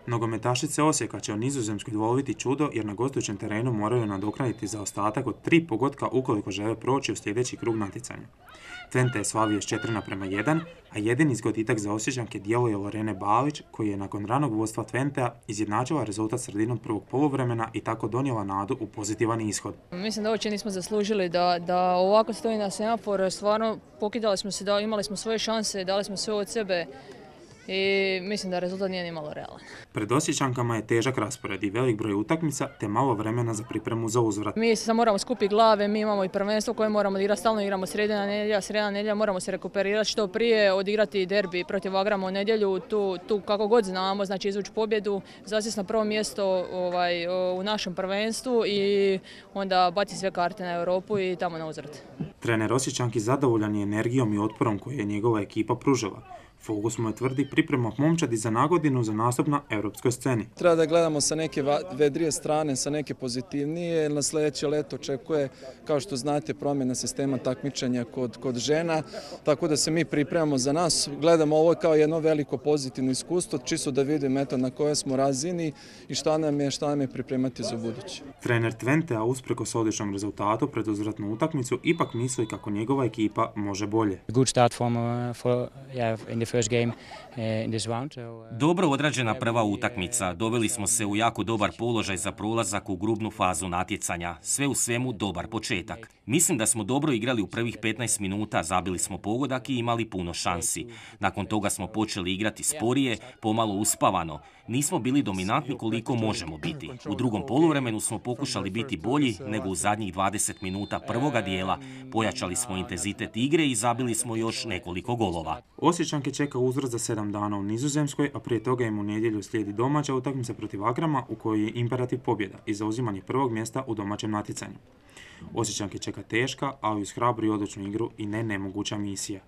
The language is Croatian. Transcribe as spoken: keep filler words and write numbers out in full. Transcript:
Nogometašice Osijeka će u Nizozemskoj dvoloviti čudo jer na gostujućem terenu moraju nadoknaditi zaostatak od tri pogotka ukoliko žele proći u sljedeći krug natjecanja. Twente je slavio s četiri naprema jedan, a jedini zgoditak za Osječanke djeluje Lorene Balić, koji je nakon ranog vodstva Twentea izjednačila rezultat sredinom prvog poluvremena i tako donijela nadu u pozitivan ishod. Mislim da uopće nismo zaslužili da, da ovako stoji na semafor, stvarno pokidali smo se, da imali smo svoje šanse, dali smo sve od sebe. I mislim da rezultat nije ni malo realan. Pred Osječankama je težak raspored i velik broj utakmica te malo vremena za pripremu za uzvrat. Mi se moramo skupiti glave, mi imamo i prvenstvo koje moramo odigrati, stalno igramo sredina nedjelja, sredina nedjelja, moramo se rekuperirati što prije, odigrati derbi protiv Vagrama u nedjelju, tu, tu kako god znamo, znači izvući pobjedu, zasjesti na prvo mjesto ovaj, u našem prvenstvu i onda baci sve karte na Europu i tamo na uzvrat. Trener Osječanki zadovoljan je energijom i otporom koju je njegova ekipa pružila. Fokus mu je tvrdi priprema momčadi za nagodinu za nastup na europskoj sceni. Treba da gledamo sa neke vedrije strane, sa neke pozitivnije. Na sljedeće leto očekuje, kao što znate, promjena sistema takmičenja kod, kod žena, tako da se mi pripremamo za nas. Gledamo ovo kao jedno veliko pozitivno iskustvo, čisto da vidimo eto, na kojoj smo razini i šta nam je, šta nam je pripremati za buduće. Trener Twentea usprkos odličnom rezultatu pred uzvratnu utakmicu ipak misli kako njegova ekipa može bolje. Good start from, uh, for, yeah, in the Dobro odrađena prva utakmica. Doveli smo se u jako dobar položaj za prolazak u grupnu fazu natjecanja. Sve u svemu dobar početak. Mislim da smo dobro igrali u prvih petnaest minuta, zabili smo pogodak i imali puno šansi. Nakon toga smo počeli igrati sporije, pomalo uspavano. Nismo bili dominantni koliko možemo biti. U drugom poluvremenu smo pokušali biti bolji nego u zadnjih dvadeset minuta prvoga dijela. Pojačali smo intenzitet igre i zabili smo još nekoliko golova. Osječanke čeka uzvrat za sedam dana u Nizozemskoj, a prije toga im u nedjelju slijedi domaća utakmica protiv Vagrama u kojoj je imperativ pobjeda i zauzimanje prvog mjesta u domaćem natjecanju. Osječanke čeka teška, ali uz hrabru i odlučnu igru i ne nemoguća misija.